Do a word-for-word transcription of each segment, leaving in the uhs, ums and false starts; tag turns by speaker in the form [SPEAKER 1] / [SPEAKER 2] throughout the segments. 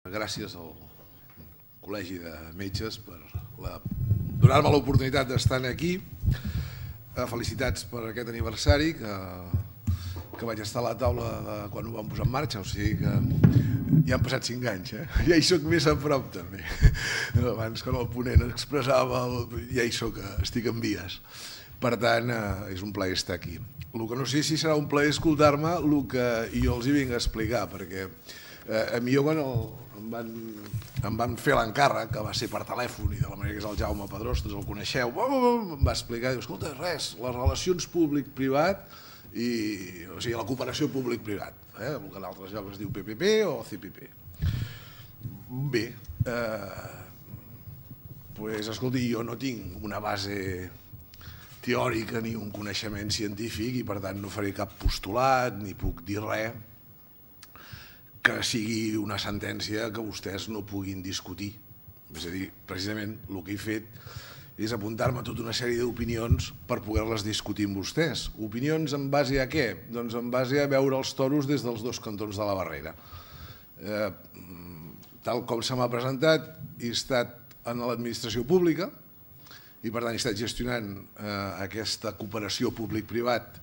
[SPEAKER 1] Gràcies al Col·legi de Metges per donar-me l'oportunitat d'estar aquí. Felicitats per aquest aniversari que vaig estar a la taula quan ho vam posar en marxa, o sigui que ja han passat cinc anys, ja hi soc més a prop també. Abans quan el ponent expressava ja hi soc, estic en vies. Per tant, és un plaer estar aquí. El que no sé si serà un plaer escoltar-me el que jo els hi vinc a explicar, perquè a mi jo quan em van fer l'encàrrec, que va ser per telèfon i de la manera que és el Jaume Pedrós, tots el coneixeu, em va explicar, diu, escolta, res, les relacions públic-privat, o sigui, la cooperació públic-privat, el que en altres llocs es diu P P P o C P P. Bé, doncs, escolti, jo no tinc una base teòrica ni un coneixement científic i per tant no faré cap postulat ni puc dir res que sigui una sentència que vostès no puguin discutir. És a dir, precisament el que he fet és apuntar-me tota una sèrie d'opinions per poder-les discutir amb vostès. Opinions en base a què? Doncs en base a veure els toros des dels dos cantons de la barrera. Tal com se m'ha presentat, he estat en l'administració pública i per tant he estat gestionant aquesta cooperació públic-privat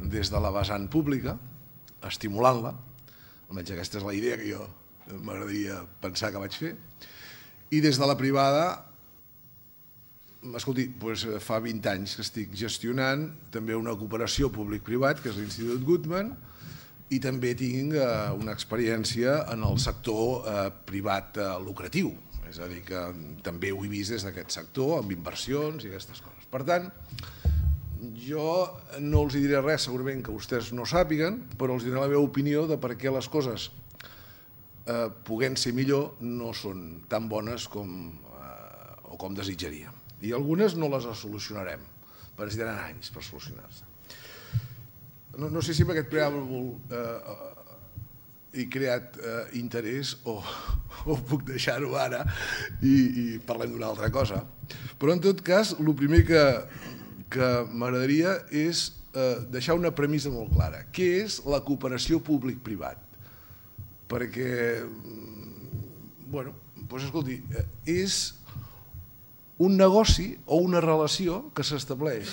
[SPEAKER 1] des de la vessant pública, estimulant-la. Almenys aquesta és la idea que jo m'agradaria pensar que vaig fer. I des de la privada, escolti, fa vint anys que estic gestionant també una cooperació públic-privat, que és l'Institut Guttmann, i també tinc una experiència en el sector privat lucratiu. És a dir, que també ho he vist des d'aquest sector, amb inversions i aquestes coses. Per tant, jo no els diré res segurament que vostès no sàpiguen, però els diré la meva opinió de per què les coses, podent ser millor, no són tan bones com desitjaríem. I algunes no les solucionarem, perquè necessitaran anys per solucionar-se. No sé si amb aquest preàmbul he creat interès o puc deixar-ho ara i parlem d'una altra cosa. Però en tot cas, el primer que m'agradaria és deixar una premissa molt clara. Què és la cooperació públic-privat? Perquè, bueno, doncs escolti, és un negoci o una relació que s'estableix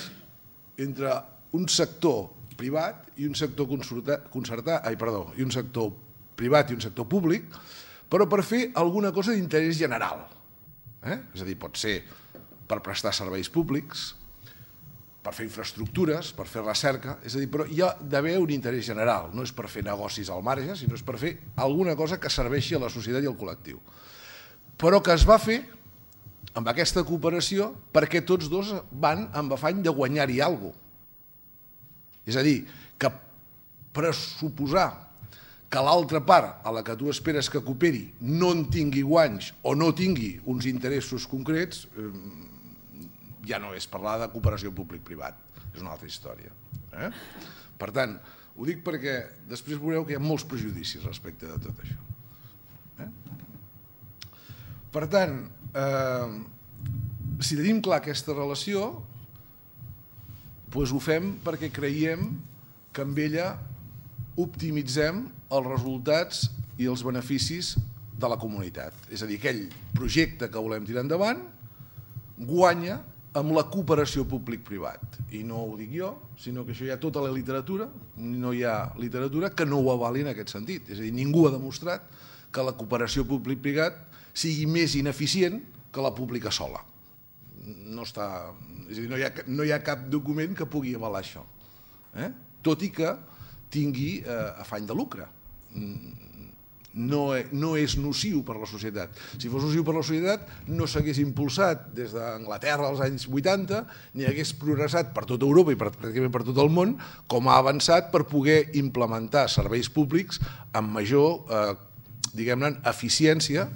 [SPEAKER 1] entre un sector privat i un sector concertat, ai, perdó, i un sector privat i un sector públic, però per fer alguna cosa d'interès general. És a dir, pot ser per prestar serveis públics, per fer infraestructures, per fer recerca, és a dir, però hi ha d'haver un interès general, no és per fer negocis al marge, sinó és per fer alguna cosa que serveixi a la societat i al col·lectiu. Però que es va fer amb aquesta cooperació perquè tots dos van amb afany de guanyar-hi alguna cosa. És a dir, que pressuposar que l'altra part a la que tu esperes que cooperi no en tingui guanys o no tingui uns interessos concrets, ja no és parlar de cooperació públic-privat, és una altra història. Per tant, ho dic perquè després veureu que hi ha molts prejudicis respecte de tot això. Per tant, si tenim clar aquesta relació, doncs ho fem perquè creiem que amb ella optimitzem els resultats i els beneficis de la comunitat. És a dir, aquell projecte que volem tirar endavant guanya amb la cooperació públic-privat. I no ho dic jo, sinó que això hi ha tota la literatura, no hi ha literatura que no ho avali en aquest sentit. És a dir, ningú ha demostrat que la cooperació públic-privat sigui més ineficient que la pública sola. No està... És a dir, no hi ha cap document que pugui avalar això, tot i que tingui afany de lucre. No és nociu per la societat. Si fos nociu per la societat, no s'hagués impulsat des d'Anglaterra als anys vuitanta, ni hagués progressat per tota Europa i pràcticament per tot el món, com ha avançat per poder implementar serveis públics amb major, diguem-ne, eficiència,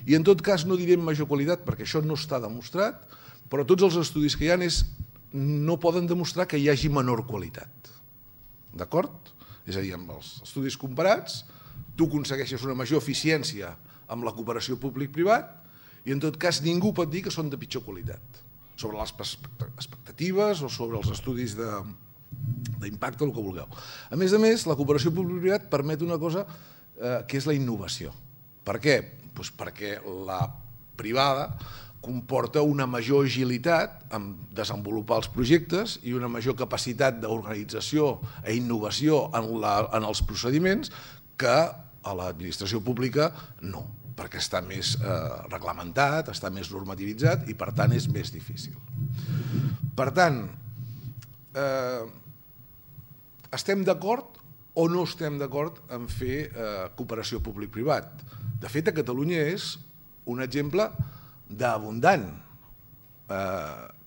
[SPEAKER 1] i en tot cas no direm major qualitat, perquè això no està demostrat, però tots els estudis que hi ha no poden demostrar que hi hagi menor qualitat. D'acord? És a dir, amb els estudis comparats, tu aconsegueixes una major eficiència amb la cooperació públic-privat i en tot cas ningú pot dir que són de pitjor qualitat. Sobre les expectatives o sobre els estudis d'impacte, el que vulgueu. A més a més, la cooperació públic-privat permet una cosa que és la innovació. Per què? Doncs perquè la privada comporta una major agilitat en desenvolupar els projectes i una major capacitat d'organització i innovació en els procediments que a l'administració pública no, perquè està més reglamentat, està més normativitzat i per tant és més difícil. Per tant, estem d'acord o no estem d'acord en fer cooperació públic-privat? De fet, a Catalunya és un exemple d'abundant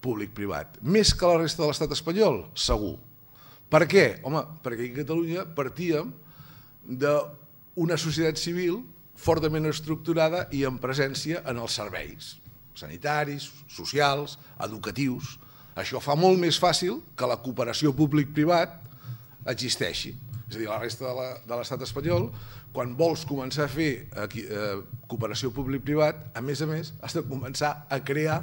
[SPEAKER 1] públic-privat, més que la resta de l'estat espanyol, segur. Per què? Home, perquè a Catalunya partíem d'una societat civil fortament estructurada i amb presència en els serveis sanitaris, socials, educatius. Això fa molt més fàcil que la cooperació públic-privat existeixi. És a dir, la resta de l'estat espanyol, quan vols començar a fer cooperació públic-privat, a més a més, has de començar a crear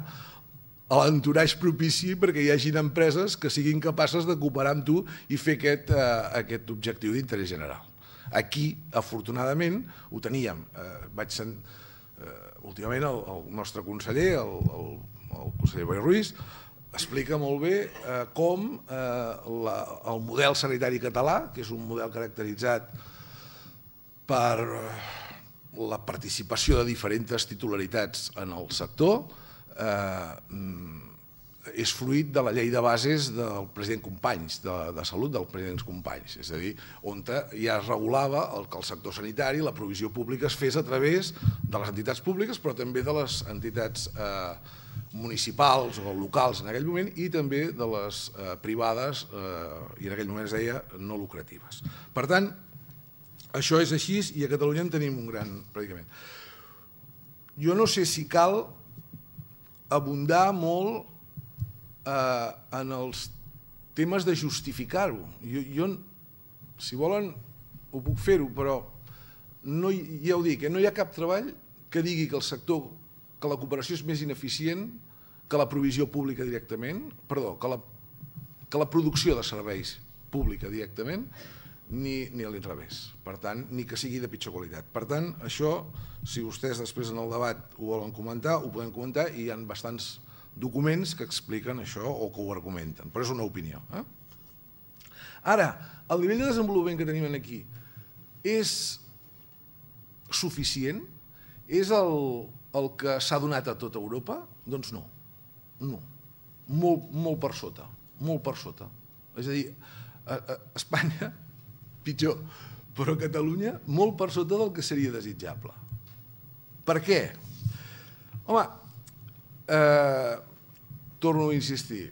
[SPEAKER 1] l'entoratge propici perquè hi hagin empreses que siguin capaces de cooperar amb tu i fer aquest objectiu d'interès general. Aquí, afortunadament, ho teníem. Vaig sentir, últimament, el nostre conseller, el conseller Boi Ruiz, explica molt bé com el model sanitari català, que és un model caracteritzat per la participació de diferents titularitats en el sector, és fruit de la llei de bases del president Companys, de salut del president Companys, és a dir, on ja es regulava que el sector sanitari, la provisió pública es fes a través de les entitats públiques, però també de les entitats municipals o locals en aquell moment i també de les privades, i en aquell moment es deia no lucratives. Per tant, això és així i a Catalunya en tenim un gran predicament. Jo no sé si cal abundar molt en els temes de justificar-ho. Jo, si volen, ho puc fer-ho, però ja ho dic, no hi ha cap treball que digui que el sector, que la cooperació és més ineficient que la provisió pública directament, perdó, que la producció de serveis pública directament, ni a l'inrevés. Per tant, ni que sigui de pitjor qualitat. Per tant, això, si vostès després en el debat ho volen comentar, ho podem comentar i hi ha bastants documents que expliquen això o que ho argumenten, però és una opinió. Ara, el nivell de desenvolupament que tenim aquí és suficient? És el que s'ha donat a tota Europa? Doncs no, no, molt per sota, molt per sota. És a dir, a Espanya, pitjor, però a Catalunya molt per sota del que seria desitjable. Per què? Home, torno a insistir,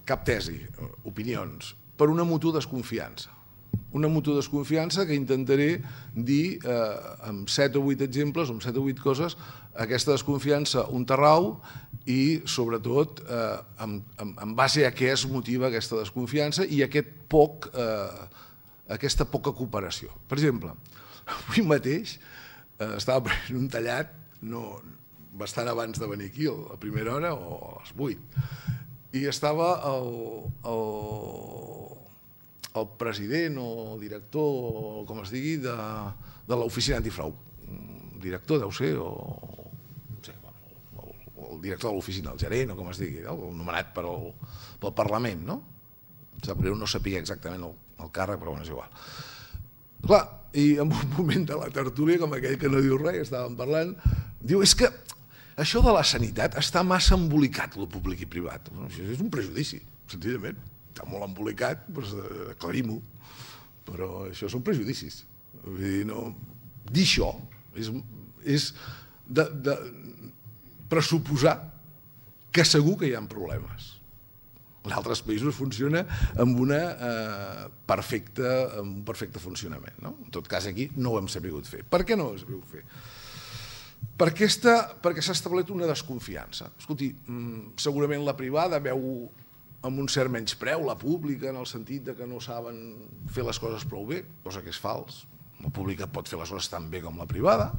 [SPEAKER 1] cap tesi, opinions, per una mutua desconfiança. Una mutua desconfiança que intentaré dir amb set o vuit exemples, amb set o vuit coses, aquesta desconfiança un terrau i, sobretot, en base a què es motiva aquesta desconfiança i aquesta poca cooperació. Per exemple, avui mateix estava prenent un tallat bastant abans de venir aquí, a primera hora o a les vuit, i estava el president o director, com es digui, de l'oficina antifrau. Director, deu ser, o el director de l'oficina, el gerent, o com es digui, nomenat pel Parlament, no? Sap greu no sabia exactament el càrrec, però és igual. Clar, i en un moment de la tertúlia, com aquell que no diu res, estàvem parlant, diu, és que això de la sanitat està massa embolicat, el públic i privat. Això és un prejudici, senzillament. Està molt embolicat, doncs aclarim-ho, però això són prejudicis. Dir això és pressuposar que segur que hi ha problemes. En altres països funciona amb un perfecte funcionament. En tot cas, aquí no ho hem sabut fer. Per què no ho hem sabut fer? Perquè s'ha establert una desconfiança. Escolti, segurament la privada veu amb un cert menyspreu la pública, en el sentit que no saben fer les coses prou bé, cosa que és fals. La pública pot fer les coses tan bé com la privada,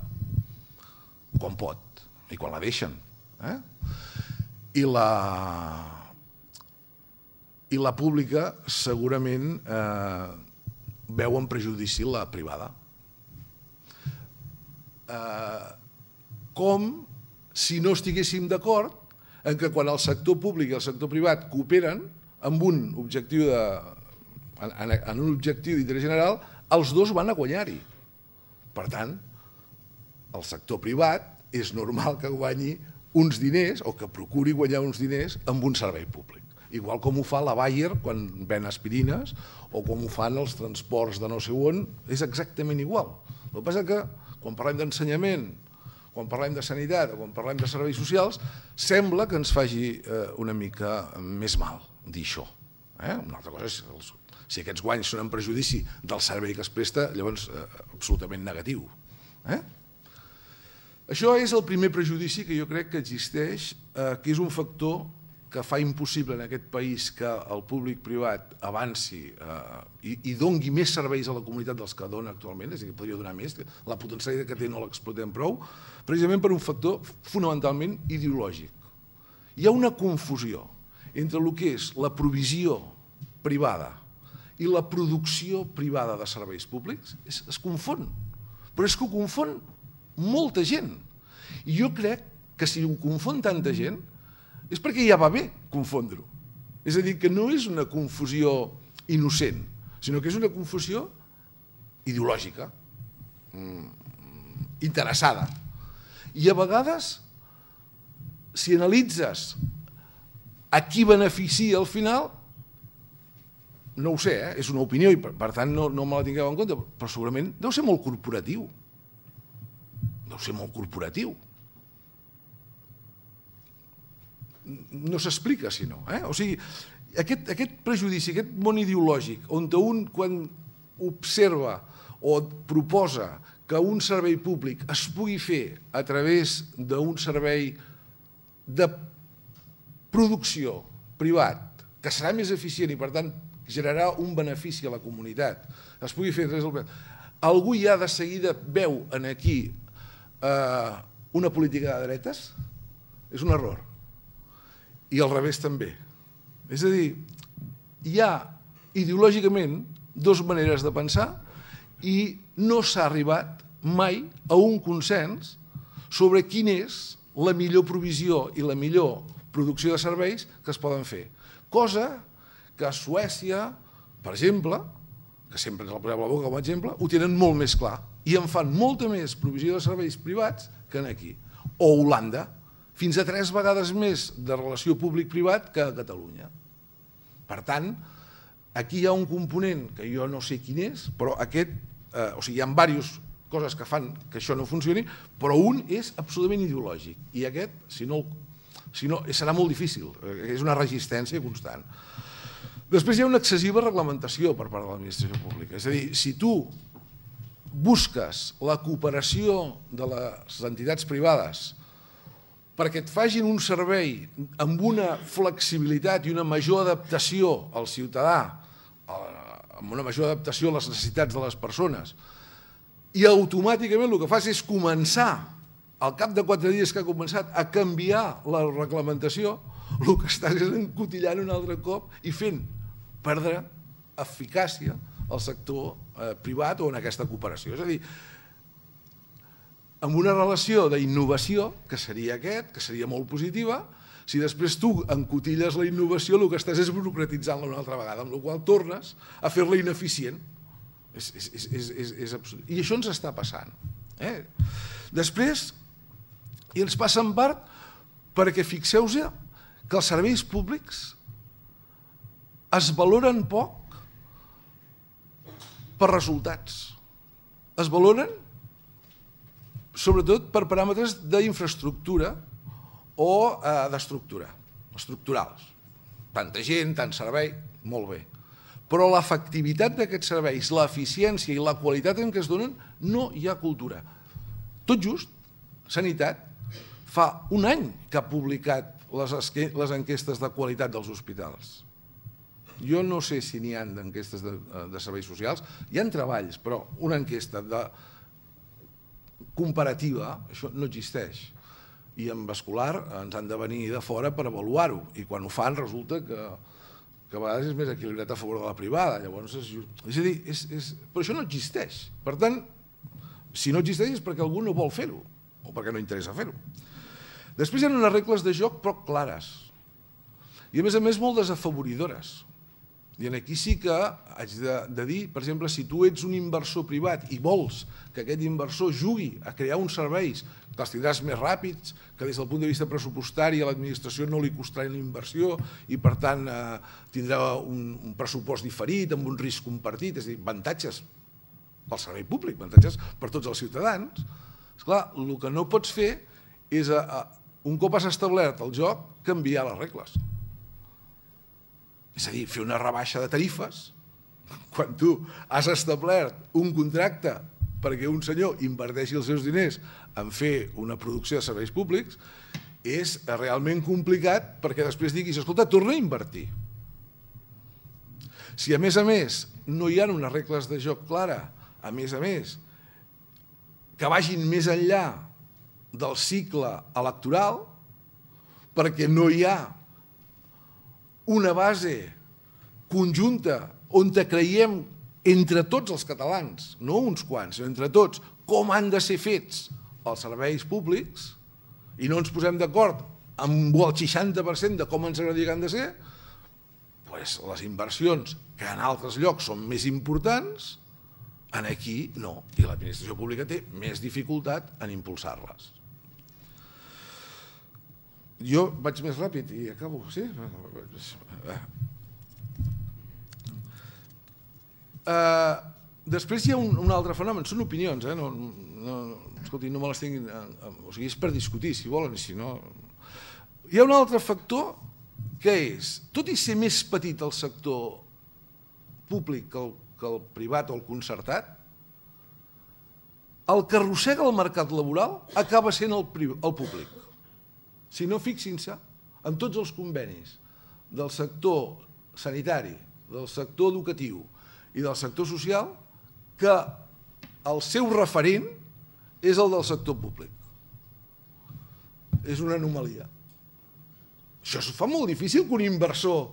[SPEAKER 1] quan pot, i quan la deixen. I la... i la pública segurament veu en prejudici la privada. com si no estiguéssim d'acord en que quan el sector públic i el sector privat cooperen amb un objectiu de, en, en un objectiu d'interès general, els dos van a guanyar-hi. Per tant, el sector privat és normal que guanyi uns diners o que procuri guanyar uns diners amb un servei públic. Igual com ho fa la Bayer quan ven aspirines o com ho fan els transports de no sé on, és exactament igual. El que passa que quan parlem d'ensenyament, quan parlem de sanitat o quan parlem de serveis socials, sembla que ens faci una mica més mal dir això. Una altra cosa és si aquests guanys són en perjudici del servei que es presta, llavors absolutament negatiu. Això és el primer prejudici que jo crec que existeix, que és un factor que fa impossible en aquest país que el públic-privat avanci i doni més serveis a la comunitat dels que dona actualment, és a dir, que podria donar més, la potencialitat que té no l'explotem prou, precisament per un factor fonamentalment ideològic. Hi ha una confusió entre el que és la provisió privada i la producció privada de serveis públics, es confon, però és que ho confon molta gent. I jo crec que si ho confon tanta gent és perquè ja va bé confondre-ho. És a dir, que no és una confusió innocent, sinó que és una confusió ideològica, interessada. I a vegades, si analitzes a qui beneficia al final, no ho sé, és una opinió i per tant no me la tingueu en compte, però segurament deu ser molt corporatiu. Deu ser molt corporatiu. No s'explica, si no. O sigui, aquest prejudici, aquest món ideològic, on un, quan observa o proposa que un servei públic es pugui fer a través d'un servei de producció privat, que serà més eficient i, per tant, generarà un benefici a la comunitat, es pugui fer a través del privat, algú ja de seguida veu aquí una política de dretes? És un error. I al revés també. És a dir, hi ha ideològicament dues maneres de pensar i no s'ha arribat mai a un consens sobre quina és la millor provisió i la millor producció de serveis que es poden fer. Cosa que a Suècia, per exemple, que sempre ens la posem a la boca com a exemple, ho tenen molt més clar i en fan molta més provisió de serveis privats que aquí. O Holanda, fins a tres vegades més de relació públic-privat que a Catalunya. Per tant, aquí hi ha un component que jo no sé quin és, però aquest, o sigui, hi ha diverses coses que fan que això no funcioni, però un és absolutament ideològic i aquest, si no, serà molt difícil, és una resistència constant. Després hi ha una excessiva reglamentació per part de l'administració pública, és a dir, si tu busques la cooperació de les entitats privades perquè et facin un servei amb una flexibilitat i una major adaptació al ciutadà, amb una major adaptació a les necessitats de les persones, i automàticament el que fas és començar, al cap de quatre dies que ha començat, a canviar la reglamentació, el que estàs és encotillant un altre cop i fent perdre eficàcia al sector privat o en aquesta cooperació. És a dir, amb una relació d'innovació, que seria aquest, que seria molt positiva, si després tu encotilles la innovació, el que estàs és burocratitzant-la una altra vegada, amb la qual cosa tornes a fer-la ineficient. I això ens està passant. Després, i ens passa en part perquè fixeu-vos que els serveis públics es valoren poc per resultats. Es valoren sobretot per paràmetres d'infraestructura o d'estructura, estructurals. Tanta gent, tant servei, molt bé. Però l'efectivitat d'aquests serveis, l'eficiència i la qualitat en què es donen, no hi ha cultura. Tot just, Sanitat fa un any que ha publicat les enquestes de qualitat dels hospitals. Jo no sé si n'hi ha d'enquestes de serveis socials, hi ha treballs, però una enquesta de comparativa, això no existeix. I en vascular ens han de venir de fora per avaluar-ho, i quan ho fan resulta que a vegades és més equilibrat a favor de la privada. És a dir, però això no existeix. Per tant, Si no existeix és perquè algú no vol fer-ho, o perquè no interessa fer-ho. Després hi ha unes regles de joc poc clares, i a més a més molt desafavoridores. I aquí sí que haig de dir, per exemple, si tu ets un inversor privat i vols que aquest inversor jugui a crear uns serveis que els tindràs més ràpids, que des del punt de vista pressupostari a l'administració no li costarà la inversió i per tant tindrà un pressupost diferit amb un risc compartit, és a dir, avantatges pel servei públic, avantatges per tots els ciutadans, esclar, el que no pots fer és, un cop has establert el joc, canviar les regles. És a dir, fer una rebaixa de tarifes, quan tu has establert un contracte perquè un senyor inverteixi els seus diners en fer una producció de serveis públics, és realment complicat perquè després diguis, escolta, torna a invertir. Si a més a més no hi ha unes regles de joc clara, a més a més, que vagin més enllà del cicle electoral, perquè no hi ha una base conjunta on creiem entre tots els catalans, no uns quants, sinó entre tots, com han de ser fets els serveis públics i no ens posem d'acord amb el seixanta per cent de com ens agradaria que han de ser, doncs les inversions que en altres llocs són més importants, aquí no, i l'administració pública té més dificultat en impulsar-les. Jo vaig més ràpid i acabo, sí? Després hi ha un altre fenomen, són opinions, escolti, no me les tinguin, o sigui, és per discutir, si volen, i si no... Hi ha un altre factor que és, tot i ser més petit el sector públic que el privat o el concertat, el que arrossega el mercat laboral acaba sent el públic. Si no, fixin-se en tots els convenis del sector sanitari, del sector educatiu i del sector social, que el seu referent és el del sector públic. És una anomalia. Això es fa molt difícil que un inversor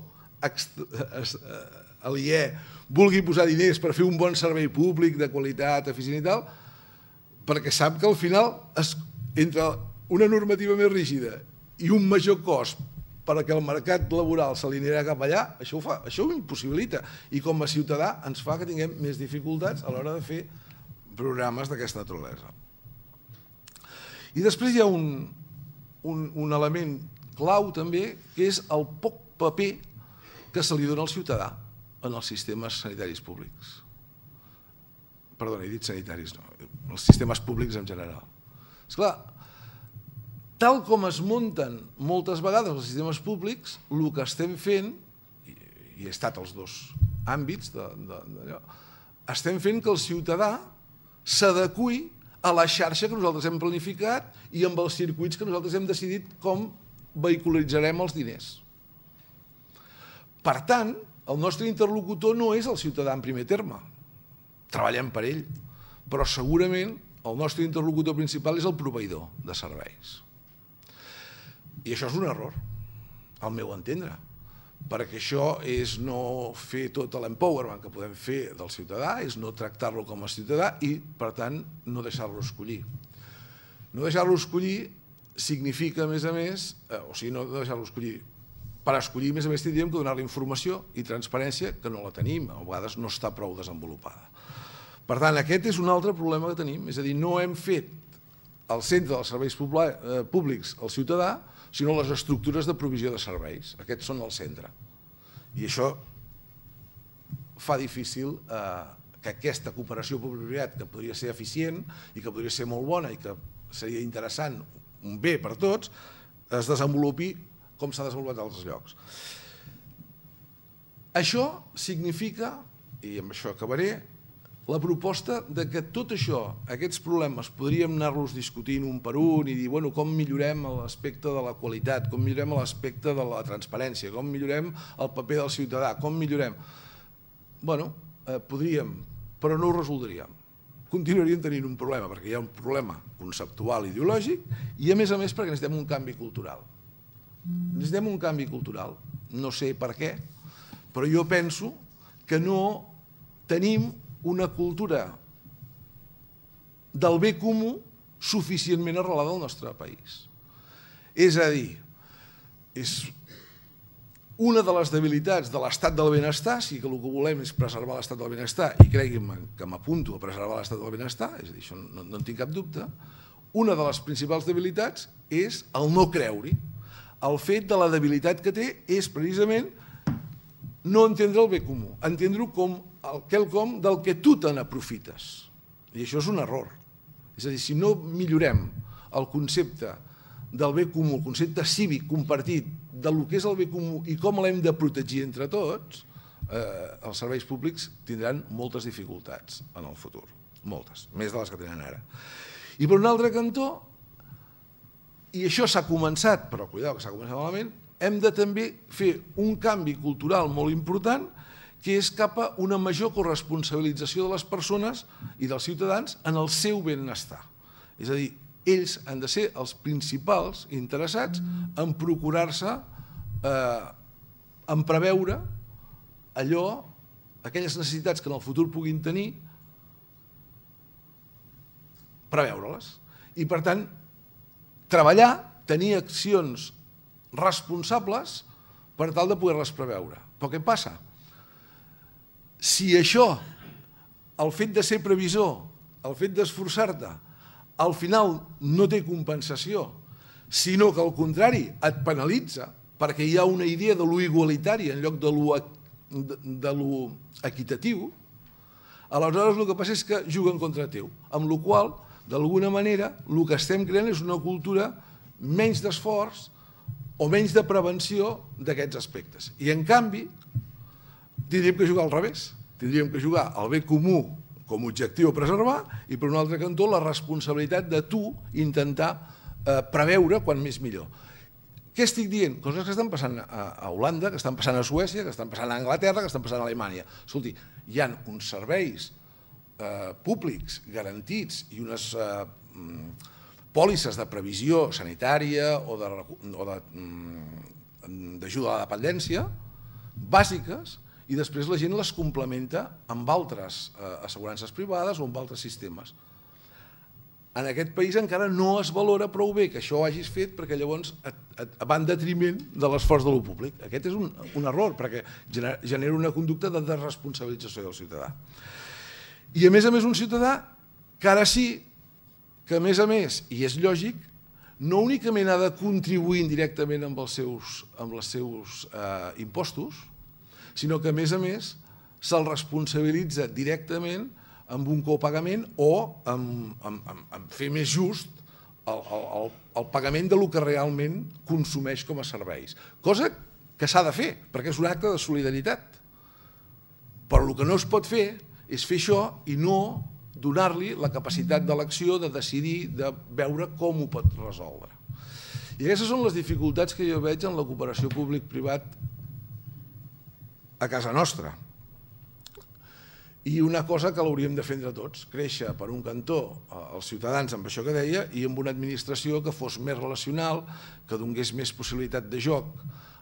[SPEAKER 1] aliè vulgui posar diners per fer un bon servei públic de qualitat, eficient i tal, perquè sap que al final, entre una normativa més rígida i un major cost perquè el mercat laboral se li anirà cap allà, això ho impossibilita. I com a ciutadà ens fa que tinguem més dificultats a l'hora de fer programes d'aquesta naturalesa. I després hi ha un element clau també, que és el poc paper que se li dona al ciutadà en els sistemes sanitaris públics. Perdona, he dit sanitaris, no, els sistemes públics en general. Esclar, tal com es munten moltes vegades els sistemes públics, el que estem fent, i he estat als dos àmbits d'allò, estem fent que el ciutadà s'adequi a la xarxa que nosaltres hem planificat i amb els circuits que nosaltres hem decidit com vehiculitzarem els diners. Per tant, el nostre interlocutor no és el ciutadà en primer terme. Treballem per ell, però segurament el nostre interlocutor principal és el proveïdor de serveis. I això és un error, al meu entendre, perquè això és no fer tot l'empowerment que podem fer del ciutadà, és no tractar-lo com a ciutadà i, per tant, no deixar-lo escollir. No deixar-lo escollir significa, a més a més, o sigui, no deixar-lo escollir, per escollir, a més a més, tindríem que donar-li informació i transparència que no la tenim, a vegades no està prou desenvolupada. Per tant, aquest és un altre problema que tenim, és a dir, no hem fet el centre dels serveis públics al ciutadà, sinó les estructures de provisió de serveis. Aquests són el centre. I això fa difícil que aquesta cooperació públic-privat, que podria ser eficient i que podria ser molt bona i que seria interessant, un bé per tots, es desenvolupi com s'ha desenvolupat a altres llocs. Això significa, i amb això acabaré, la proposta de que tot això, aquests problemes, podríem anar-los discutint un per un i dir, bueno, com millorem l'aspecte de la qualitat, com millorem l'aspecte de la transparència, com millorem el paper del ciutadà, com millorem... Bueno, podríem, però no ho resoldríem. Continuaríem tenint un problema, perquè hi ha un problema conceptual i ideològic i, a més a més, perquè necessitem un canvi cultural. Necessitem un canvi cultural. No sé per què, però jo penso que no tenim una cultura del bé comú suficientment arrelada al nostre país. És a dir, és una de les debilitats de l'estat del benestar, si que el que volem és preservar l'estat del benestar, i creguin-me que m'apunto a preservar l'estat del benestar, és a dir, això no, no en tinc cap dubte, una de les principals debilitats és el no creure-hi. El fet de la debilitat que té és precisament no entendre el bé comú, entendre-ho com quelcom del que tu te n'aprofites. I això és un error. És a dir, si no millorem el concepte del bé comú, el concepte cívic compartit del que és el bé comú i com l'hem de protegir entre tots, els serveis públics tindran moltes dificultats en el futur. Moltes, més de les que tenen ara. I per un altre cantó, i això s'ha començat, però cuidao que s'ha començat malament, hem de també fer un canvi cultural molt important que és cap a una major corresponsabilització de les persones i dels ciutadans en el seu benestar. És a dir, ells han de ser els principals interessats en procurar-se, en preveure allò, aquelles necessitats que en el futur puguin tenir, preveure-les. I per tant, treballar, tenir accions responsables per tal de poder-les preveure. Però què passa? Si això, el fet de ser previsor, el fet d'esforçar-te, al final no té compensació, sinó que al contrari et penalitza perquè hi ha una idea de lo igualitari en lloc de lo equitatiu, aleshores el que passa és que juguen contra teu, amb la qual cosa, d'alguna manera, el que estem creant és una cultura menys d'esforç o menys de prevenció d'aquests aspectes. I en canvi, tindríem que jugar al revés, tindríem que jugar al bé comú com a objectiu a preservar i per un altre cantó la responsabilitat de tu intentar preveure quan més millor. Què estic dient? Coses que estan passant a Holanda, que estan passant a Suècia, que estan passant a Anglaterra, que estan passant a Alemanya. Escolti, hi ha uns serveis públics garantits i unes pòlisses de previsió sanitària o d'ajuda a la dependència bàsiques i després la gent les complementa amb altres assegurances privades o amb altres sistemes. En aquest país encara no es valora prou bé que això ho hagis fet perquè llavors va en detriment de l'esforç de lo públic. Aquest és un error perquè genera una conducta de desresponsabilització del ciutadà. I a més a més un ciutadà que ara sí que a més a més, i és lògic, no únicament ha de contribuir indirectament amb els seus impostos, sinó que a més a més se'l responsabilitza directament amb un copagament o amb fer més just el pagament del que realment consumeix com a serveis. Cosa que s'ha de fer, perquè és un acte de solidaritat. Però el que no es pot fer és fer això i no donar-li la capacitat d'elecció, de decidir, de veure com ho pot resoldre. I aquestes són les dificultats que jo veig en la cooperació públic-privat a casa nostra. I una cosa que l'hauríem de fer entre tots, créixer per un cantó els ciutadans amb això que deia i amb una administració que fos més relacional, que donés més possibilitat de joc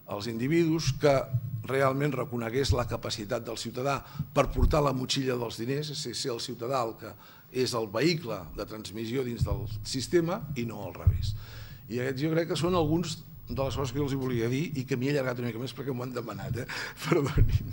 [SPEAKER 1] als individus, que realment reconegués la capacitat del ciutadà per portar la motxilla dels diners, és a dir, ser el ciutadà el que és el vehicle de transmissió dins del sistema i no al revés. I aquests jo crec que són alguns de les coses que jo els volia dir i que m'hi he allargat una mica més perquè m'ho han demanat, perdonin.